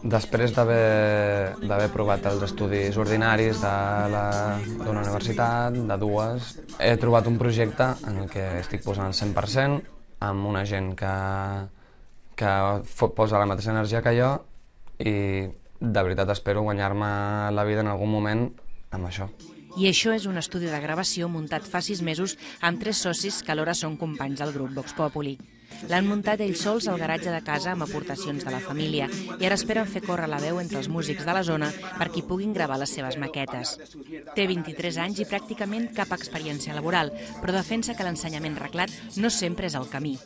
Després d'haver provat els estudis ordinaris d'una universitat, de dues, he trobat un projecte en el que estic posant el 100% amb una gent que posa la mateixa energia que jo i de veritat espero guanyar-me la vida en algun moment amb això. I això és un estudi de gravació muntat fa 6 mesos amb 3 socis que alhora són companys del grup Vox Populi. L'han muntat ells sols al garatge de casa amb aportacions de la família i ara esperen fer córrer la veu entre els músics de la zona perquè puguin gravar les seves maquetes. Té 23 anys i pràcticament cap experiència laboral, però defensa que l'ensenyament reglat no sempre és el camí.